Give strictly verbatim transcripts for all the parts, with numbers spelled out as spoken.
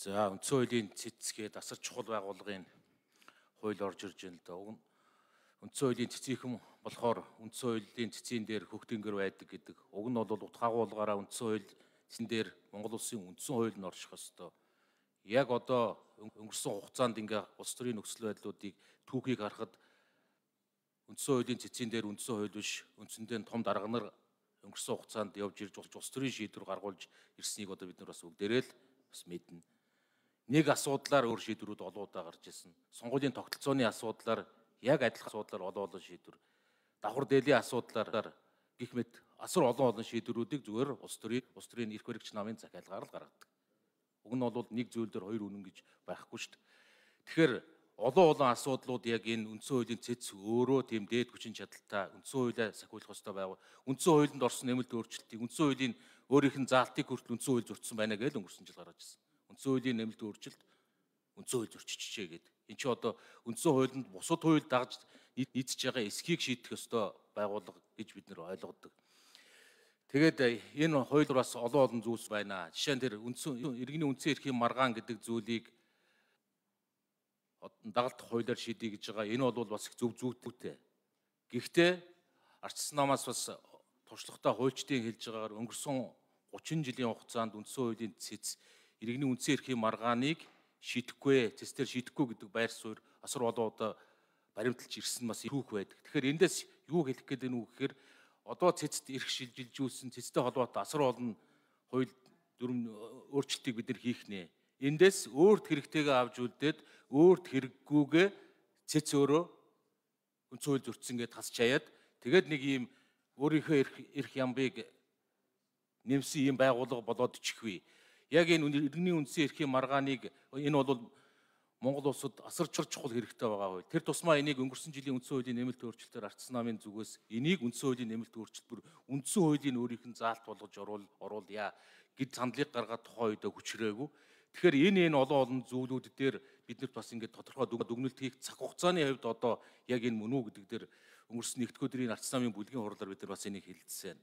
За үндсэн хуулийн цэцгээд асар чухал байгууллагын хууль орж ирж байна л да. Уг нь үндсэн хуулийн цэцгийхэн болохоор үндсэн хуулийн цэцгийн дээр хөгтөнгөр байдаг гэдэг. Уг нь бол утгаагуулгаараа үндсэн хууль цэцэн дээр Монгол улсын үндсэн хууль нь орших ёстой. Яг одоо өнгөрсөн хугацаанд ингээ улс төрийн нөхцөл байдлуудыг түүхийг харахад үндсэн хуулийн цэцгийн дээр үндсэн хууль биш, үндсэндээ том дарга нар өнгөрсөн хугацаанд явж ирж улс төрийн шийдвэр гаргуулж ирснийг одоо бид нар бас бүгдээрээ л бас мэднэ. Нэг асуудлаар өөр шийдвэрүүд олон удаа гарч ирсэн. Сонгуулийн тогтолцооны асуудлаар яг адилхан асуудлаар олон олон шийдвэр, давхар дээлийн асуудлаар гэх мэт асар олон олон шийдвэрүүдийг зүгээр улс төрийн улс төрийн эрх баригч намын захиалгаар л гаргадаг. Уг нь бол нэг зүйл дээр хоёр үнэн гэж байхгүй шүү дээ. Тэгэхээр олон олон асуудлууд яг энэ үндсэн хуулийн цэц өөрөө тийм дээд хүчин чадалтай үндсэн хуулиа сахиулах ёстой байв. Үндсэн хуулинд орсон нэмэлт өөрчлөлтийг үндсэн хуулийн өөрийнх нь заалтыг хүртэл үндсэн хууль зөрчсөн байна гэж өнгөрсөн жил гаргаж ирсэн. Үндсэн хуулийн нэмэлт өөрчлөлт үндсэн хууль зөрчижээ гэдэг. Энд чинь одоо үндсэн хуулинд бусад хууль дагж нийцж байгаа эсхийг шийдэх ёстой байгууллага гэж бид нэр ойлгодог. Тэгээд энэ хууль бас олон олон зүйлс байна. Жишээ нь тэр үндсэн иргэний үндсэн эрхийн маргаан гэдэг зүйлийг дагалдах хуулиар шийдэе гэж байгаа. Энэ бол бас их зөв зүйтэй. Гэхдээ ардчилсан намаас бас туршлагатай хуульчдын хэлж байгаагаар өнгөрсөн гучин жилийн хугацаанд үндсэн хуулийн цэц иргэний үндсэн эрхийн маргааныг шийдэхгүй, цэцээр шийдэхгүй гэдэг байр суурь асар олон удаа баримталж ирсэн бас түүх байдаг. Тэгэхээр эндээс юу хэлэх гээд байна уу гэхээр одоо цэцэд эрх шилжилжүүлсэн цэцтэй холбоотой асар олон хууль дүрм өөрчлөлтийг бид нар хийх нэ. Эндээс өөрт хэрэгтэйгээ авч үлдээд өөрт хэрэггүйгээ цэц өөрөө үндсэн хууль зөрчсөн гэдээ тасч хаяад тэгээд нэг ийм өөрийнхөө эрх эрх ямбыг нэмсэн ийм байгууллага болоод ичихвээ. Яг энэ иргэний үндсэн эрхийн маргааныг энэ бол Монгол улсад асар чухал хэрэгтэй байгаа хууль. Тэр тусмаа энийг өнгөрсөн жилийн үндсэн хуулийн нэмэлт өөрчлөлтөөр ардчилсан намын зүгээс энийг үндсэн хуулийн нэмэлт өөрчлөлт бүр үндсэн хуулийн өөрийнх нь заалт болгож оруулъя гэд сандлыг гаргаад тухайн үедээ хүчрээгүй. Тэгэхээр энэ энэ олон олон зүйлүүд дээр биднэрт бас ингээд тодорхой дүгнэлт хийх цаг хугацааны хувьд одоо яг энэ мөн үү гэдэг дээр өнгөрсөн нэгдүгээр өдрийн ардчилсан намын бүлгийн хурлаар бид нар бас энийг хэлэлцсэн.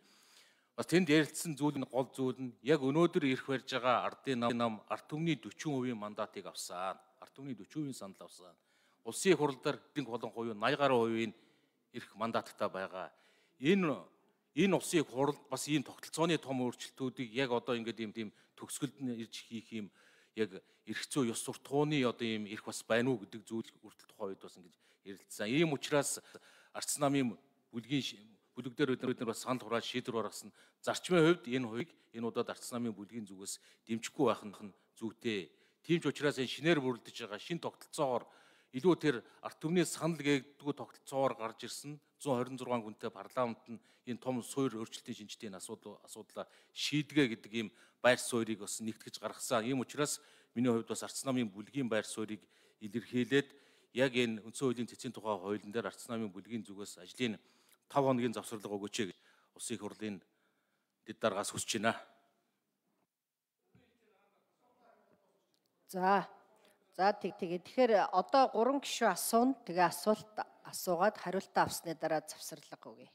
Бас тэнд ярилцсан зүйл нь гол зүйл нь яг өнөөдөр ирэх барьж байгаа ардын нам ард түмний дөрвөн хувийн мандатыг авсан. Ард түмний дөрвөн хувийн санал авсан. Улсын их хурлаар эдийн колон хувийн найман гаруй хувийн ирэх мандаттай байгаа. Энэ энэ улсын их хурл бас ийм тогтолцооны том өөрчлөлтүүдийг яг одоо ингээд ийм тийм төгсгөлд нь ирж хийх юм яг эрх зүй ёс суртахууны одоо ийм эрх бас байна уу гэдэг зүйл хүртэл тухайн үед бас ингэж ярилцсан. Ийм учраас ардчилсан намын бүлгийн бүлэг дээр бид нар бас санал хурааж шийдвэр гаргасан. Зарчмын хувьд энэ хувийг энэ удаад ардчилсан намын бүлгийн зүгээс дэмжихгүй байх нь зүйтэй. Тийм ч учраас энэ шинээр бүрэлдэж байгаа шин тогтолцоогоор илүү тэр ард түмний санал гээгддэг тогтолцоогоор гарч ирсэн зуун хорин зургаан хүнтэй парламент нь энэ том суурь өөрчлөлтийн шинжтэй асуудал асуудлаа шийдгээ гэдэг ийм байр суурийг бас нэгтгэж гаргасан. Ийм учраас миний хувьд бас ардчилсан намын бүлгийн байр суурийг илэрхийлээд яг энэ үндсэн хуулийн цэцгийн тухай хуулийн дээр ардчилсан намын бүлгийн зүгээс ажлын тав хоногийн завсарлага өгөөч гэж улсын их хурлын дэд даргаас хүсэж байна. За. За тэг тэгээ. Тэгэхээр одоо гурван гишүүн асууна. Тэгээ асуулт асуугаад хариултаа авсны дараа завсарлага өгье.